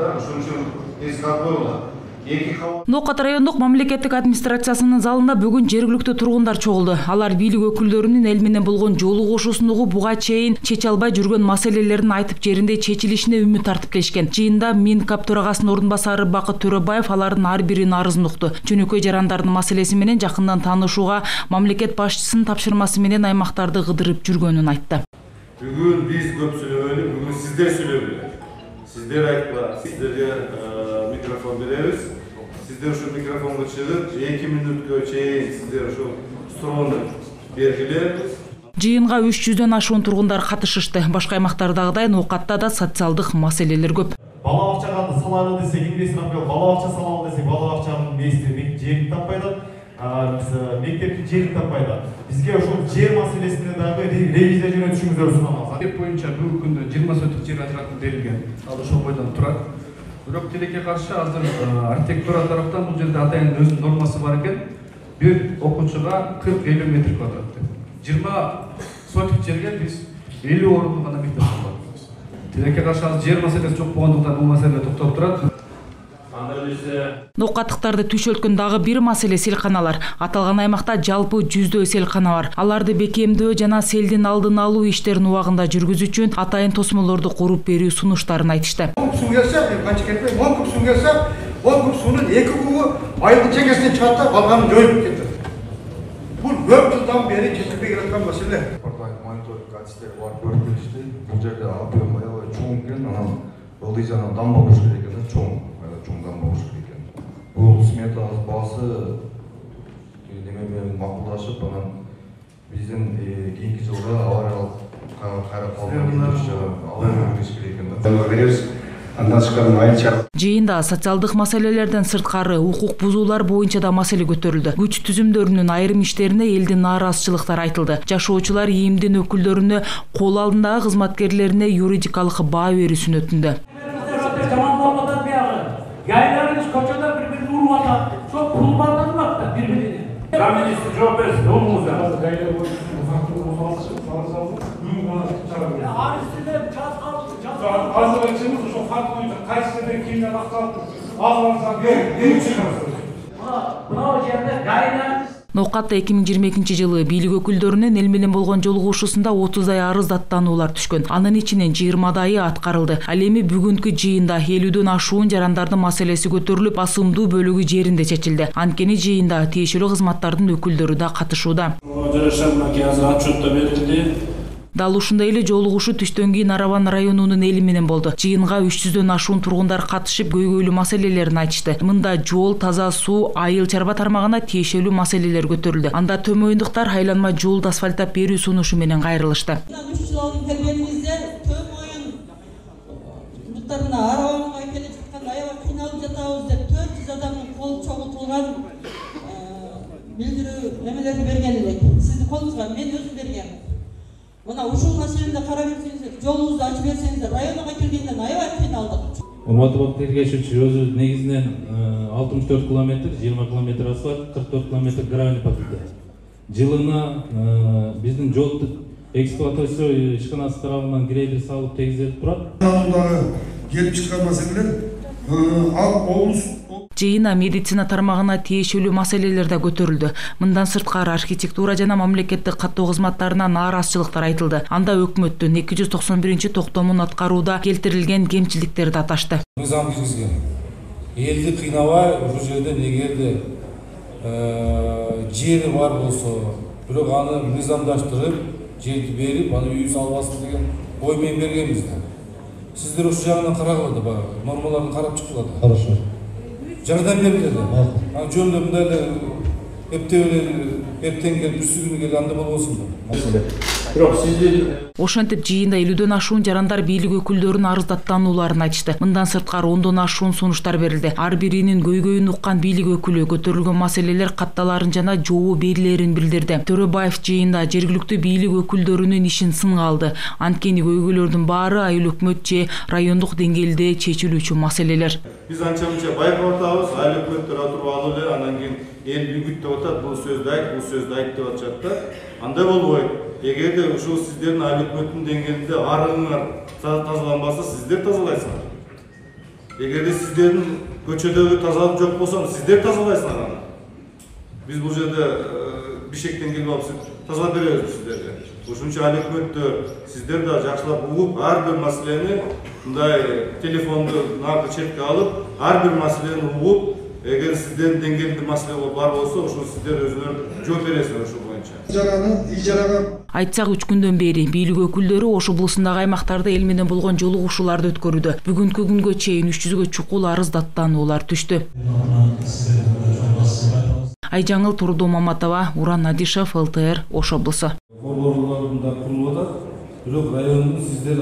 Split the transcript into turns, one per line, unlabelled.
Ошон үчүн эскерт коюлат.
Ноокат райондук мамлекеттик администрациясынын залында бүгүн жергиликтүү тургундар чогулду. Алар бийлик өкүлдөрүнүн эл менен болгон жолугушуусундагы буга чейин чече албай жүргөн маселелерин айтып жеринде чечилишине үмүт артиптешкен. Жыйында Минкап төрагасынын ордун басары Бакыт Төрөбаев алардын ар биринин арызын укту. Жөнөкөй жарандардын маселеси менен жакындан таанышууга мамлекет башчысынын тапшырмасы менен аймактарды кыдырып жүргөнүн айтты.
Бүгүн биз көп сүйлөбөйлү, бүгүн сиздер сүйлөгүлөр. Сиздер айткыла, сиздерге микрофон беребиз. Сиздер ушул микрофонго чыгып, 2 мүнөткө чейин сиздер ушул суроону бергиле.
Жыйынга 300дөн ашуун тургундар катышышты. Башка аймактардагыдай Ноокатта да социалдык маселелер көп.
Бала бакчага салалы десек, инвестор бала бакча салалы десек, бала бакчанын мээси жерин таппай атат. Мектептин жерин таппай атат. Бизге ошол жер маселесине дагы ревизия жөнөтүшүңүздөрдү сунамыз.
Деп боюнча бүгүнкү күндө 20 соток жер ажыратып берилген. Ал ошол бойдон турат. Бирок тилекке каршы азыр архитектура тараптан бул жерде атайын өзүнүн нормасы бар экен. Бир окуучуга 40-50 метр квадрат. 20 соток жерге биз 50 орунду гана мектеп салабыз. Тилекке каршы азыр жер маселеси жок болгондуктан бул маселе токтоп турат.
Ноокаттыктарды түшөлткөн дагы бир маселе селканалар. Аталган аймакта жалпы 100дөй селкана бар. Аларды бекемдөө жана селдин алдын алуу иштерин убагында жүргүзүү үчүн атайын тосмолорду куруп берүү сунуштарын айтышты.
Суу келсе, канча кетпей, 10 куб суу келсе, 10 куб суунун 2 кубу айылдын чекесине чыгат да, калганын жоюп кетет. Бул көп жылдан бери чечилбей келаткан маселе.
Мониторинг катистери бар көрүп келишти. Бул жерде объем аябай чоң экен, анан ылдый жана дамба болуш керек экен, чоң дамба болуш керек экен. Бул смета баасы неме менен макулдашып, анан биздин кийинки жылга авариялык кайра калдырып керек экен.
Жыйында социалдык маселелерден сырткары укук бузуулар боюнча да маселе көтөрүлдү. Күч түзүмдөрүнүн айрым иштерине элдин нааразычылыктары айтылды. Жашоочулар ИИМдин өкүлдөрүнө кол алдындагы кызматкерлерине юридикалык баа берүүсүн өтүндү.
Yaylarınız koçada birbirini vurmadan çok kullanmadın mı da birbirini? Raministi çok bersin, ne olmuş ya? Aristide çaz kaldı.
Azıcık açığımız şu fark koyunca kaç sefer kimden aktardı? Ağlarsan ne çıkarsın?
Buna o yerde yaylar.
Ноокатта 2022-жылы бийлик өкүлдөрүнүн эл менен болгон жолугушуусунда 30дай арыз даттануулар түшкөн. Анын ичинен 20дайы аткарылды. Ал эми бүгүнкү жыйында 50дөн ашуун жарандардын маселеси көтөрүлүп, басымдуу бөлүгү жеринде чечилди. Анткени жыйында тиешелүү кызматтардын өкүлдөрү да катышууда. Дал ушундай эле жолугушуу түштөн кийин Нарабан районунун эли менен болду. Жыйынга 300дөн ашуун тургундар катышып көйгөйлүү маселелерин айтышты. Мында жол, таза суу, айыл чарба тармагына тиешелүү маселелер көтөрүлдү. Анда Төмөйүндуктар айланма жолду асфальттап берүү сунушу менен кайрылышты.
3 жыл алдын келгенибизде Төмөйүн буттарына арабанга келе жатканда аябай кыйналып жатабыз деп 400 адамдын колу чогултулган билдирүү эмелерди берген элек. Сиздин колуңузга мен өзүм бергем. Мына ушул маселени карап берсеңиздер, жолуңузду ачып берсеңиздер, районуга келгенде аябай кыйналдык.
Урматтуу тергөөчү, өзү негизинен 64 километр, 20 километр асфальт, 44 километр гравий покрытие. Жылына биздин жол эксплуатация ишканасы тарабынан грейдер салып тегизелип турат.
Келип чыккан маселелер ал облус
Жыйына медицина тармагына тиешелүү маселелер да көтөрүлдү. Мындан сырткары архитектура жана мамлекеттик каттоо кызматтарына нааразычылыктар айтылды. Анда өкмөттүн 291-токтомун аткарууда келтирилген кемчиликтерди аташты.
Мыйзам киргизген. Элди кыйнабай ушул жерде эгерде жери бар болсо, бирок аны мыйзамдаштырып, жерди берип, аны үй салбасын деген ой менен бергенбиз да. Сиздер ушул жагынан карагыла да, нормаларын карап чыккыла да.
Хорошо.
Жардам берилет. Аны жөнүндө мындай эле эртең келип бүрсү күнү келип анда болбосун да.
Бирок сиздер
Ошентип жыйында 50дөн ашуун жарандар бийлик өкүлдөрүнүн арыз даттанууларын айтышты. Мындан сырткары 10дон ашуун сунуштар берилди. Ар биринин көйгөйүн уккан бийлик өкүлү көтөрүлгөн маселелер катталарын жана жообу берилерин билдирди. Төрөбаев жыйында жергиликтүү бийлик өкүлдөрүнүн ишин сынга алды. Анткени көйгөйлөрдүн баары айыл өкмөт же райондук деңгээлде чечилүүчү маселелер.
Биз анча-мынча байкап атабыз, айыл өкмөттөр отуруп алып эле, анан кийин эл бүгүттөп атат, бул сөздү айт деп атышат да. Андай болбойт. Эгерде ушул сиздердин айыл өкмөттүн деңгээлинде арыңар тазаланбаса, сиздер тазалайсыңар. эгерде сиздердин көчөдөгү тазалык жок болсо сиздер тазалайсыңар аны. Биз бул жерде бишектен келип алып тазалап беребиз сиздерге. Ошон үчүн ал өкмөттөр сиздер да жакшылап угуп, ар бир маселени мындай телефонду наркы четке алып, ар бир маселени угуп, эгер сиздердин деңгээлде маселе бар болсо, ошо сиздер өзүңөр жооп бересиңер ошол боюнча.
Айтсак 3 күндөн бери бийлик өкүлдөрү Ош облусундагы аймактарда эл менен болгон жолугушууларды өткөрүүдө. Бүгүнкү күнгө чейин 300гө чукул арыз даттануулар түштү. Айжаңыл Турду Маматова, Уран Надишев, ЛТР, Ош облусу.
Борборлорунда курулуп атат. Бирок райондун сиздер